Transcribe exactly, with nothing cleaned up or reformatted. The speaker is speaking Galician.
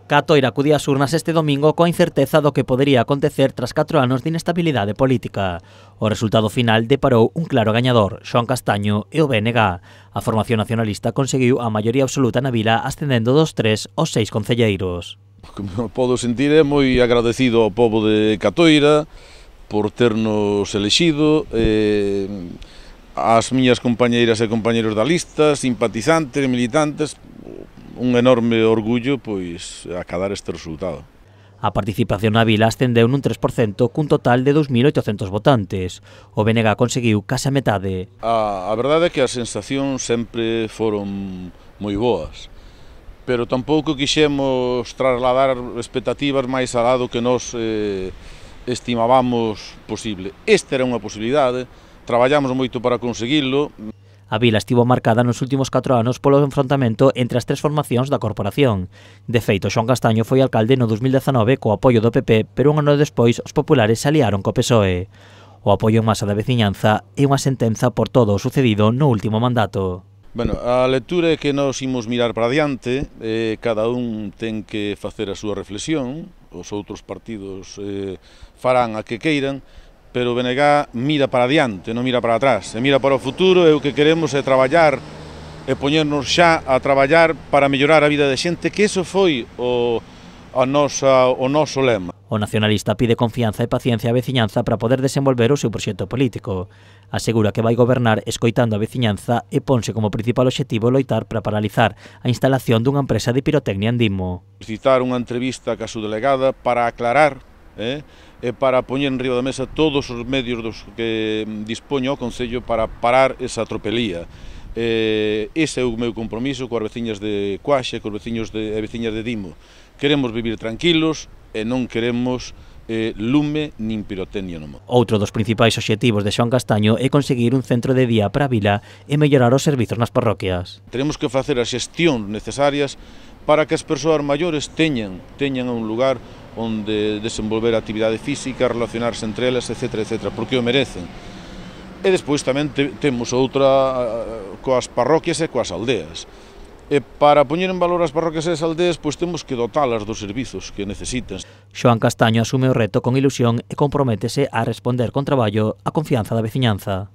Catoira acudía ás urnas este domingo coa incerteza do que podería acontecer tras catro anos de inestabilidade política. O resultado final deparou un claro gañador, Xoán Castaño e o B N G. A formación nacionalista conseguiu a maioría absoluta na vila ascendendo dos tres aos seis concelleiros. Como podo sentir, é moi agradecido ao pobo de Catoira por ternos elexido, eh, as miñas compañeiras e compañeiros da lista, simpatizantes e militantes, un enorme orgullo pois acadar este resultado. A participación na vila ascendeu nun tres por cento cun total de dous mil oitocentos votantes. O B N G conseguiu case a metade. A, a verdade é que as sensacións sempre foron moi boas, pero tampouco quixemos trasladar expectativas máis alá do que nós eh, estimábamos posible. Esta era unha posibilidade, traballamos moito para conseguilo. A vila estivo marcada nos últimos catro anos polo enfrontamento entre as tres formacións da corporación. De feito, Xoán Castaño foi alcalde no dos mil dezanove co apoio do P P, pero un ano despois os populares se aliaron co P S O E. O apoio en masa da veciñanza é unha sentenza por todo o sucedido no último mandato. Bueno, a lectura é que nos imos mirar para diante, eh, cada un ten que facer a súa reflexión, os outros partidos eh, farán a que queiran, pero o B N G mira para diante, non mira para atrás, e mira para o futuro, e o que queremos é traballar e poñernos xa a traballar para mellorar a vida de xente, que iso foi o, a nosa, o noso lema. O nacionalista pide confianza e paciencia á veciñanza para poder desenvolver o seu proxecto político. Asegura que vai gobernar escoitando a veciñanza e ponse como principal obxectivo loitar para paralizar a instalación dunha empresa de pirotecnia en Dimo. Citar unha entrevista ca súa delegada para aclarar eh, e para poñer en riba da mesa todos os medios dos que dispoño o Concello para parar esa tropelía. Eh, ese é o meu compromiso coas veciñas de Coaxe, cos veciños de, e veciñas de Dimo. Queremos vivir tranquilos e non queremos eh, lume nin pirotecnia no mundo. Outro dos principais obxectivos de Xoán Castaño é conseguir un centro de día para a vila e mellorar os servizos nas parroquias. Tenemos que facer as xestións necesarias para que as persoas maiores teñan, teñan un lugar onde desenvolver actividade física, relacionarse entre elas, etcétera, etcétera, porque o merecen. E despois tamén te, temos outra coas parroquias e coas aldeas. E para poñer en valor as parroquias e as aldeas, pois temos que dotalas dos servizos que necesitan. Xoán Castaño asume o reto con ilusión e comprométese a responder con traballo a confianza da veciñanza.